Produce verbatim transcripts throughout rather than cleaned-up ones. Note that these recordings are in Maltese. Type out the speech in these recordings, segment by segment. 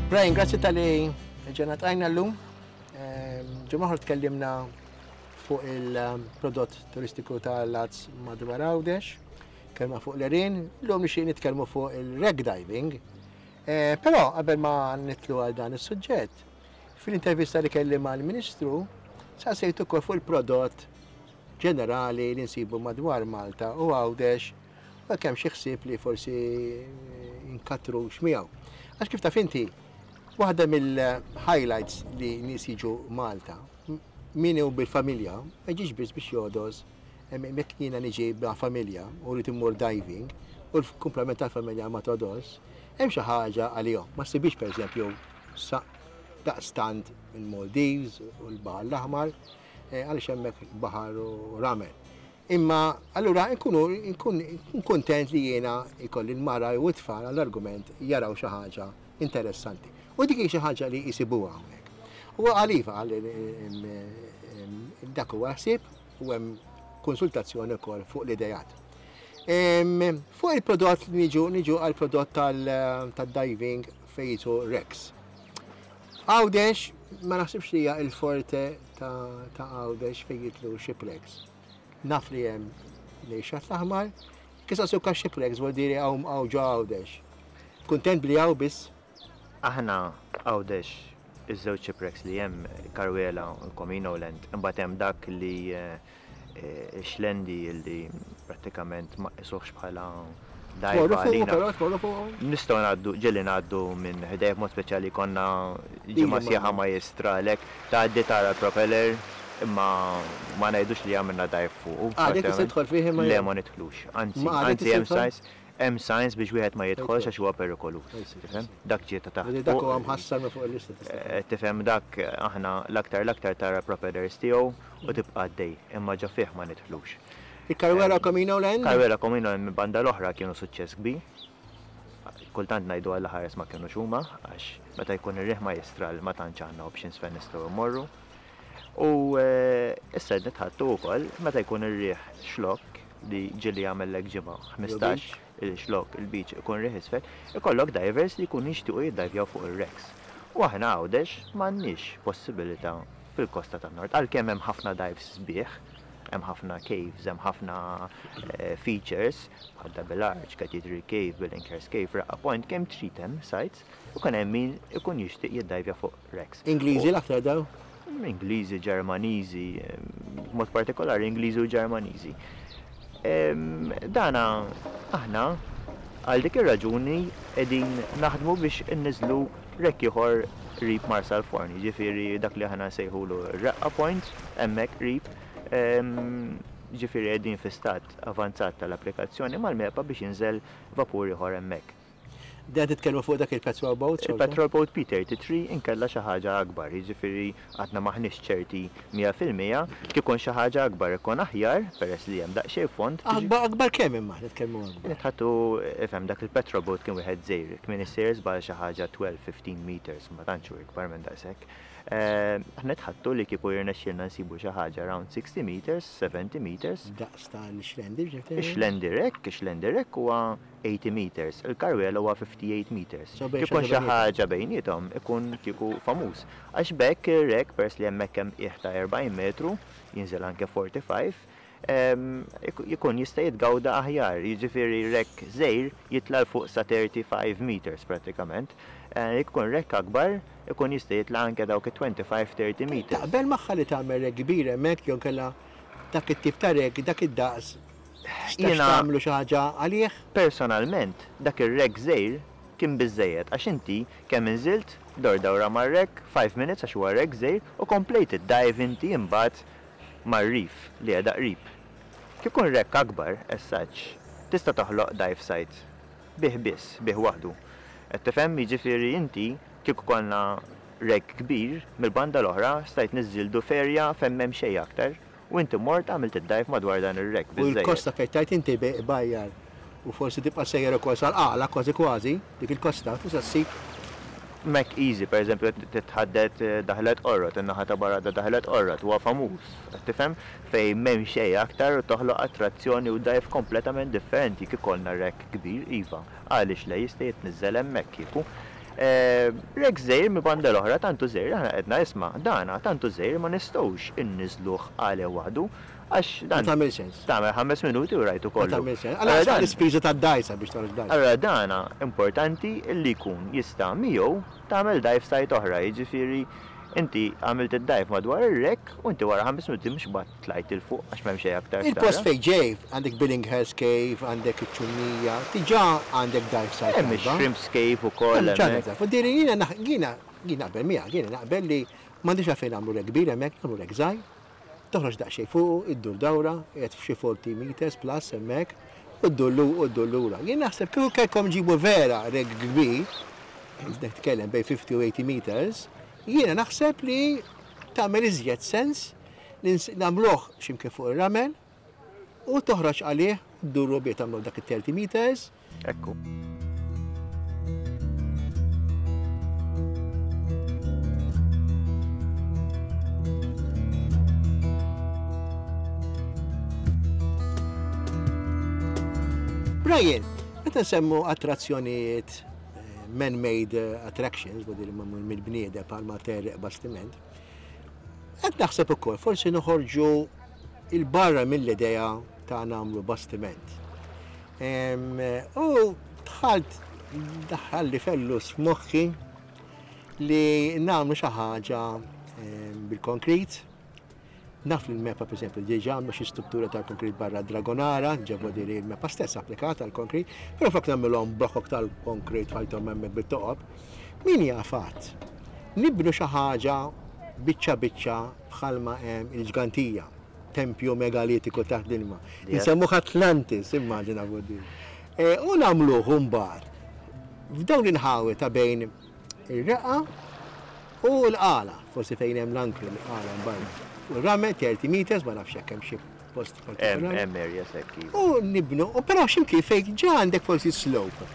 Brian, grazzi talli ġejna ltqajna llum. Ġimgħa tkellimna fuq il-prodott turistiku tal-Lazz madwar Għawdex, kelma fuq l-għerien, llum nixtieq nitkellmu fuq il-wreck diving. Eh, Però qabel ma nidħlu għal dan is-suġġett, fil-intervista li kelli mal-Ministru, saqsejtu ukoll fuq il-prodott ġenerali li nsibu madwar Malta u Għawdex u kemm xi ħsieb li forsi inkattrux miegħu. Għax kif taf inti, waħda mill-highlights li nies jiġu Malta, min hu bil-familja, ma jiġix biss biex jogħdos, jekk jiena niġi ma' familja u rrid immur diving u l-kumplament tal-familja ma togħdos, hemm xi ħaġa għalihom. Ma ssibix, pereżempju, daqstant il-Maldives u l-Baħar l-Aħmar, eh, għaliex hemmhekk baħar u ramel. Imma allura nkunu nkun kontent li jiena ikolli l-mara u t-tfal għall-argument jaraw xi ħaġa interessanti. U dik hi xi ħaġa li jisibuha hawnhekk. U għaliva għal dak huwa ħsieb u hemm konsultazzjoni wkoll fuq l-idejat. Fuq il-prodott, niġu niġu għal prodott tal-diving fejtu wrecks. Għawdex ma naħsibx li hija il-forte ta' Għawdex fejn jidħlu shipwrecks. Naf li hemm lejxat l-aħmar, kisa suka shipwrecks vuol dire hawn ġo Għawdex. Kuntent li hawn biss? Aħna Għawdex iż-żewġ shipwrecks li hemm, Karwela u Comino Land, imbagħad hemm dak li eh, Xlendi li prattikament ma qisuhx bħala Tmorru fuq, però tmorru fuq. Nistgħu ngħaddu, ġieli ngħaddu minn ħdejh, mod speċjali konna ġimgħa sħiħa ma jistralek, tgħaddi tara l-propeller, imma ma ngħidux li għamilna dive fuq. Għadek tista' tidħol fih imma? Le, ma nidħlux. Anzi, anzi hemm signs, hemm signs biex wieħed ma jidħolx għax huwa perikoluż. Tifhem? Dak ġie ta' taħt. Dak huwa mħassar minn fuq il-lista. Eh, tifhem, dak aħna l-aktar l-aktar tara propellers tiegħu u tibqa' għaddej, imma ġo fih ma nidħlux. Il-Karwela Comino Land? Karwela Comino Land minn banda l-oħra kienu suċċess kbir. Kultant ngħidu għal ħares ma kienu huma, għax meta jkun ir-riħ ma jistral ma tantx għandna options fejn nistgħu mmorru. U eh, issa nitħattu wkoll meta jkun ir-riħ xlok, li ġieli jagħmellek ġimgħa ħmistax il-xlok il-beach ikun riħ isfel, ikollok divers li jkunu jixtiequ jiddajvjaw fuq ir-wrecks. U aħna Għawdex m'għandniex possibilità fil-kosta tan-nord, għalkemm hemm ħafna dives sbieħ, hemm ħafna caves, hemm ħafna eh, features, bħal Double Arch, Cathedral Cave, Billinghurst Cave, Raqqa Point, kemm trid hemm sites, u kan hemm min ikun jixtieq jiddajvja fuq wrecks. Ingliżi l-aktar daw? Ingliżi, Ġermaniżi, mod partikolari Ingliżi u Ġermaniżi. Dana aħna għal dik ir-raġuni qegħdin naħdmu biex inniżlu wreck ieħor qrib Marsalforn, ġifieri dak li aħna nsejħulu Raqqa Point, hemmhekk qrib, ġifieri qegħdin fi stat avanzat tal-applikazzjoni mal-MEPA biex jinżel vapur ieħor hemmhekk. Dan titkellmu fuq dak il-patrol boat? Il-patrol boat P thirty-three inkella xi ħaġa akbar, jiġifieri għadna maħniex ċerti mija fil-mija. Kikun xi ħaġa akbar ikun aħjar peress li hemm daqsxejn fond. Akbar, akbar kemm imma nitkellmu akbar? Nitħattu, ifhem, dak il-patrol boat kien wieħed żgħir, kien issejjer żball xi ħaġa tnax fifteen meters, ma tantx hu ikbar minn daqshekk. Eh, aħna nitħattu li kieku jirnexxielna nsibu xi ħaġa around sixty meters, seventy meters. Daqs tal-Xlendi, ġifieri? Ix-Xlendi wreck, ix-Xlendi wreck huwa eighty meters, il-Karwela huwa fifty-eight meters. So bejn Kikun xi xi ħaġa ħaġa bejniethom ikun kieku famuż. Għax bekk ir-wreck, peress li hemmhekk hemm qiegħ ta' erbgħin metru, jinżel anke forty-five, em, iku- jkun jista' jitgawda aħjar, jiġifieri wreck żgħir jitla' 'l fuq sa thirty-five meters pratikament. Eh, Jkun wreck akbar, ikun jista' jitla' anke dawk twenty-five thirty meters. Taqbel magħha li tagħmel wreck kbir hemmhekk jew kella dak it-tip ta' wreck, dak id-daqs? Jiena Jiena- tagħmlu xi ħaġa għalih? Personalment, dak ir-wreck żgħir kien biżejjed għax inti kemm inżilt, dor dawra mar-wreck, five minutes, għax huwa wreck żgħir, u komplejt id-dive inti imbagħad mar-reef li qiegħda qrib. Kif ikun wreck akbar, as such, tista' toħloq dive site bih biss, bih waħdu. Qed tifhem, jiġifieri inti kieku konna wreck kbir, mill-banda l-oħra stajt niżżildu f'area fejn m'hemm xejn aktar u inti mort għamilt id-dive madwar dan ir-wreck U biżejjed. l-kosta fejn tajt inti bajjar u forsi tibqa' sejjer ukoll sal-qala kważi kważi dik il-kosta tista' ssib. Mek easy, per eżempju, titħaddet eh, Daħlet Qorrot, in-naħa ta' barra ta' Daħlet Qorrot, huwa famuż, qed tifhem, fejn m'hemm xejn aktar u toħloq attrazzjoni u dive kompletament differenti. Kif ikollna wreck kbir, iva, għaliex le, jista' jitniżżel hemmhekk kieku. Wreck żgħir mi banda l-oħra tantu żgħir, aħna qedna isma' dana tantu żgħir ma nistgħux inniżluh għalih waħdu għax dan. Ma tagħmel sens. Tagħmel ħames minuti u rajtu kollu. Ma tagħmel sens. Allora l-ispiża tad-dgħajsa biex toħroġ dgħajsa. Allora dana importanti li jkun jista' miegħu tagħmel dive site oħra, jiġifieri inti għamilt id-dive madwar ir-wreck u inti wara ħames minuti mhux bad tlajt il fuq għax m'hemm xejn aktar. Il-post fejn ġej, għandek Billinghurst Cave, għandek iċ-Ċumnija, diġà għandek dive site. Hemm ix-Shrimps Cave ukoll. Hemm diri jiena jiena jiena naqbel miegħek, jiena naqbel li m'għandix għalfejn nagħmlu wreck kbir hemmhekk, nagħmlu wreck żgħir. Toħroġ daqsxejn fuq, iddur dawra, qiegħed f'xi forty meters plus hemmhekk, u ddur u ddur lura. Jien naħseb kieku kellkom ġibu vera wreck kbir, nitkellem bejn fifty u eighty meters, jiena naħseb li tagħmel iżjed sens li nagħmluh x'imkien fuq ir-ramel u toħroġ għalih dduru bih tagħmlu dak it-thirty meters. Ekku. Brian, meta nsemmu attrazzjonijiet man-made attractions, bodi li mamul mill-bniedem bħalma terreq bastiment, qed naħseb ukoll forsi noħorġu il-barra mill-idea ta' nagħmlu bastiment. U dħalt daħalli fellus f'moħħi li nagħmlu xi ħaġa bil-konkrit. Naf li l-MEPA, per esempio, diġà għamlu xi struttura tal-konkrit barra Dragonara, ġebu di li l-MEPA stess applikata għall-konkrit, però flok nagħmilhom blokok tal-konkrit fajthom hemmhekk bit-toqob. Min jafat? Nibnu xi ħaġa biċċa biċċa bħalma hemm il-ġgantija, tempju megalitiku taħt l-ilma. Insemmuh Atlantis, immaġina bodi. U nagħmluh mbagħad f'dawn l-inħawi ta' bejn ir-reqqa u l-qala, forsi fejn hemm l-ankri l-qala mbagħad. Ramel thirty meters, ma nafx hekk hemm xi post partikolari. Hemm area sekk. U nibnu, u però x'imkien fejn ġa għandek forsi slope.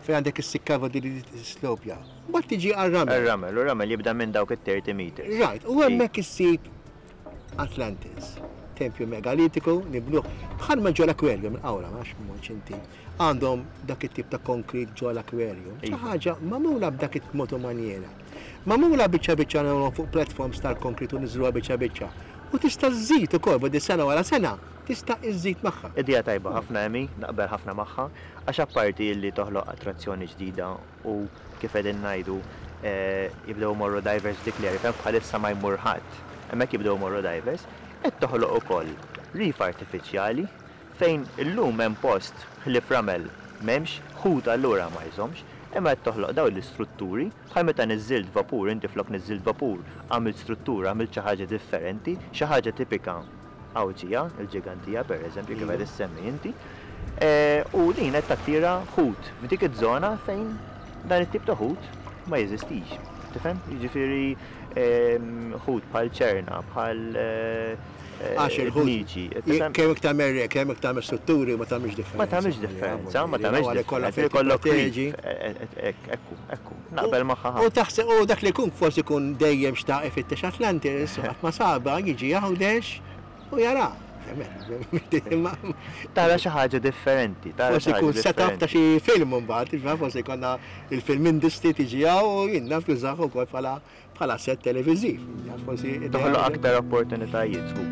Fejn għandek is-sikka di slope ja. Mbagħad tiġi għar-ramel. Ir-ramel, u ramel jibda minn dawk it-thirty meters. Right, u hemmhekk issib Atlantis, tempju megalitiku, nibnuh bħalma ġo l-aquarium il-qawra, ma nafx m'hux inti. Għandhom dak it-tip ta' konkrit ġo l-aquarium. Xi ħaġa magħmula b'dak it-mod u manjera. Magħmula biċċa biċċa nagħmluhom fuq platforms tal-konkrit u niżruha biċċa biċċa. U tista' żżid ukoll bodi sena wara sena, tista' iżżid magħha. Idea tajba ħafna Emi, naqbel ħafna magħha, għax apparti li toħloq attrazzjoni ġdida u kif qegħdin ngħidu jibdew imorru divers dik l-area fejn bħalissa ma jmur ħadd. Hemmhekk jibdew imorru divers, qed toħloq ukoll reef artifiċjali fejn illum hemm post ħlief ramel m'hemmx, ħut allura ma jżommx, imma qed toħloq dawn l-istrutturi bħal meta niżżilt vapur, inti flok niżżilt vapur, għamilt struttura, għamilt xi ħaġa differenti, xi ħaġa tipika Għawdxija, il-ġigantija pereżempju kif qed issemmi inti. U din qed tattira ħut f'dik iż-żona fejn dan it-tip ta' ħut ma jeżistix. Tifhem? Jiġifieri ħut bħal ċerna, bħal Għax il-ħut. Kemm iktar merre, kemm iktar strutturi ma tagħmilx differenza. Ma tagħmilx differenza, ma tagħmilx differenza. Kollok ekku, ekku, naqbel magħha. U taħseb u dak li jkun forsi jkun dejjem xtaq ifittex Atlantis, qatt ma saba jiġi Għawdex u jara. Tara xi ħaġa differenti, tara Forsi jkun setup ta' xi film imbagħad, forsi jkollna il-film industry tiġi hawn u jien naf jużah ukoll bħala bħala set televiżiv. Forsi toħloq aktar opportunitajiet żgur.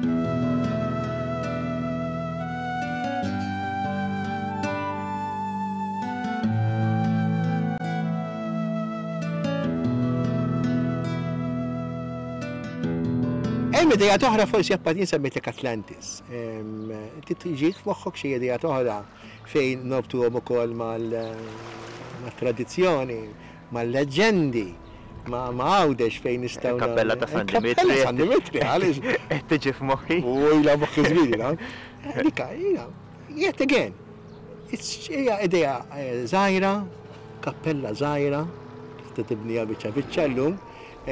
Hemm idea oħra forsi apparti semmejtek Atlantis. Tiġi f'moħħok xi idea oħra fejn nobtuhom ukoll mal-tradizzjoni, mal-leġendi, ma' Għawdex fejn nistgħu. Kappella ta' San Dimitri. Kappella San Dimitri, għaliex. Qed tiġi f'moħħi. U ilha moħħi żmien, no? Dika, yet again, hija idea żgħira, kappella żgħira, tista' tibniha biċċa biċċa llum. U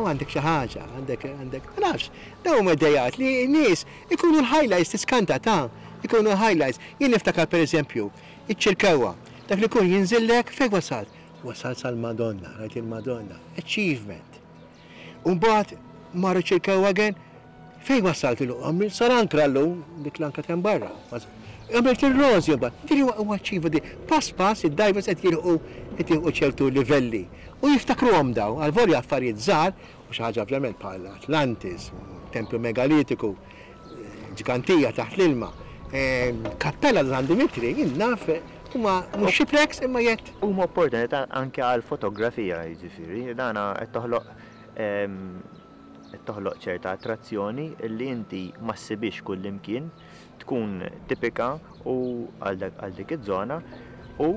għandek xi ħaġa, għandek għandek, ma nafx, dawn huma idejat li n-nies ikunu l-highlights tiskanta ta' ikunu l-highlights. Jien niftakar pereżempju, iċ-Ċirkewwa, dak li jkun jinżillek fejn wasalt? Wasalt sal-Madonna, rajt il-Madonna, achievement. U mbagħad marru Ċirkewwa again, fejn wasalt illum? Għamil sar ankra llum, dik l-ankra kemm barra. Għamilt ir-rożi mbagħad. Din huwa achieve di. Pass pass id-divers qed jilħqu qed jilħqu ċertu livelli. U jiftakruhom daw, għal affarijiet żgħar u xi ħaġa ovvjament bħal Atlantis, tempju megalitiku, ġgantija taħt l-ilma, kappella San Dimitri, jien naf huma mhux shipwrecks imma jett. Huma opportunità anke għal fotografija, jiġifieri, dana qed toħloq qed toħloq ċerta attrazzjoni li inti ma ssibix kull imkien, tkun tipika u għal dik iż-żona u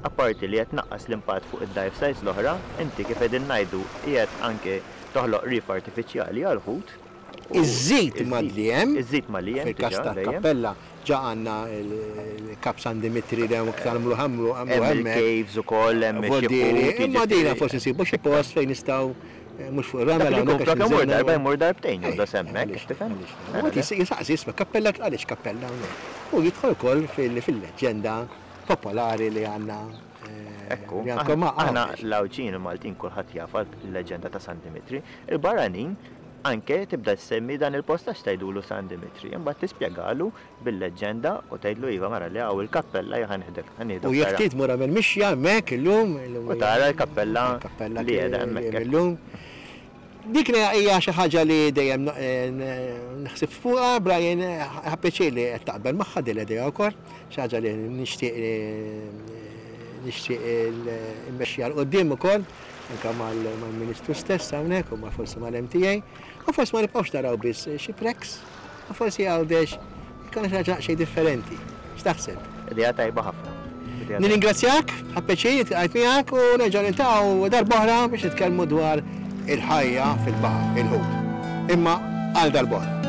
apparti li qed naqqas l-impatt fuq id-dive sites l-oħra, inti kif qegħdin ngħidu qiegħed anke toħloq reef artifiċjali għal ħut. Iżżid ma li hemm. Iżżid ma li hemm. Fil-każ tal-kappella ġa għandna il-Kap San Dimitri li hemm iktar mlu ħamlu hemm il-caves ukoll hemm xi. Imma dina forsi nsibu xi post fejn nistgħu mhux fuq ir-ramel hawnhekk. Flok imur darba jmur darbtejn jew hemmhekk, tifhem? U jisaqsi isma' kappella għaliex kappella hawnhekk. U jidħol ukoll fil-leġġenda popolari li għandna. Ekku, aħna l-Għawdxin u Maltin kulħadd jaf il-leġġenda ta' San Dimitri. Il-barranin anke tibda semmi dan il-post għax tgħidulu San Dimitri, imbagħad tispjegalu bil-leġġenda u tgħidlu iva mara li hawn il-kappella ħanieħdek. U jekk trid mur għamel mixja hemmhekk illum. U tara l-kappella li qiegħda hemmhekk illum. Dik hija xi ħaġa li dejjem naħseb fuqha, Brian, ħa pjaċir li qed taqbel magħha din l-idea wkoll, xi ħaġa li nixtieq nixtieq immexxi għal quddiem ukoll, anke mal-Ministru stess hawnhekk u ma forsi mal-M T A, u forsi ma nibqgħux naraw biss shipwrecks, u forsi Għawdex ikun xi ħaġa xejn differenti. X'taħseb? Idea tajba ħafna. Nirringrazzjak, ħa pjaċir għajt miegħek u nerġa' niltaqgħu darb'oħra biex nitkellmu dwar il-ħajja fil-baħar, il-ħut. Imma għal darb'oħra.